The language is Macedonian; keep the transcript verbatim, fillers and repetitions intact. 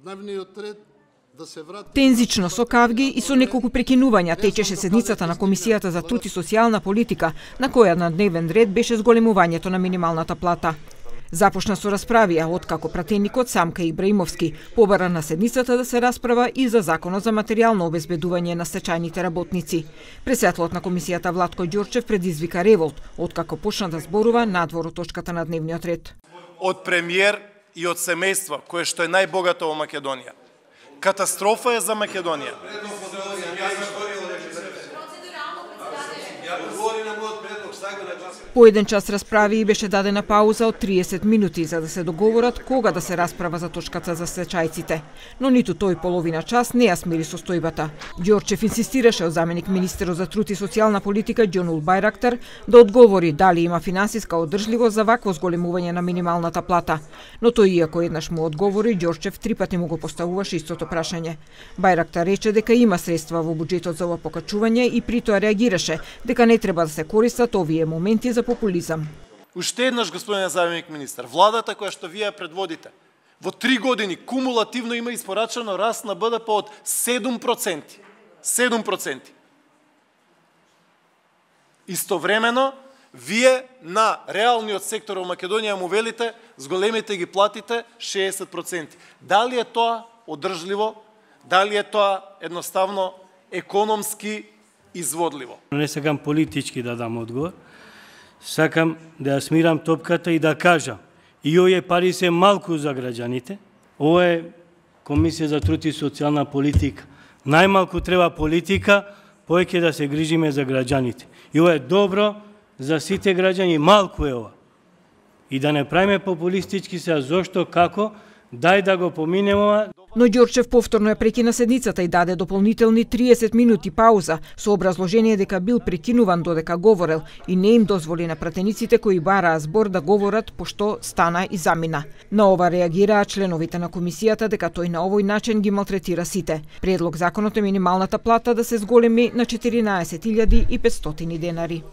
дневниот ред да се врати. Тензично со кавги и со неколку прекинувања течеше седницата на Комисијата за труд и социјална политика, на која на дневен ред беше зголемувањето на минималната плата. Започна со расправија, откако пратеникот Самка Ибраимовски побара на седницата да се расправа и за законот за материјално обезбедување на стечајните работници. Председателот на комисијата Владко Ѓорчев предизвика револт, откако почна да зборува надвор од точката на дневниот ред. Од премиер и од семејство, кое што е најбогато во Македонија. Катастрофа е за Македонија. По еден час расправи и беше дадена пауза од триесет минути за да се договорат кога да се расправа за точката за стечајците. Но ниту тој половина час не ја смири состојбата. Ѓорчев инсистираше од заменик министерот за труд и социјална политика Џонул Бајрактар да одговори дали има финансиска одржливост за вакво зголемување на минималната плата. Но тој иако еднаш му одговори, Ѓорчев три пати му го поставуваше истото прашање. Бајрактар рече дека има средства во буџетот за ова покачување и при тоа реагираше дека не треба да се користат овие моменти за популизам. Уште еднаш, господине заменик министар, владата која што вие предводите, во три години кумулативно има испорачано раст на Б Д П од седум проценти. седум проценти. Истовремено, вие на реалниот сектор во Македонија му велите, зголемите ги платите шеесет проценти. Дали е тоа одржливо? Дали е тоа едноставно економски изводливо? Не сакам политички да дам одговор. Сакам да ја смирам топката и да кажам, и овие пари се малку за граѓаните. Ова е Комисија за труд и социјална политика. Најмалку треба политика, повеќе да се грижиме за граѓаните. И ова е добро за сите граѓани, малку е ова. И да не правиме популистички се, зошто, како, дај да го поминеме ова. Но Ѓорчев повторно ја прекина седницата и даде дополнителни триесет минути пауза со образложение дека бил прекинуван додека говорел и не им дозволи на пратениците кои бараа збор да говорат пошто стана и замина. На ова реагираа членовите на комисијата дека тој на овој начин ги малтретира сите. Предлог законот е минималната плата да се зголеми на четиринаесет илјади и петстотини денари.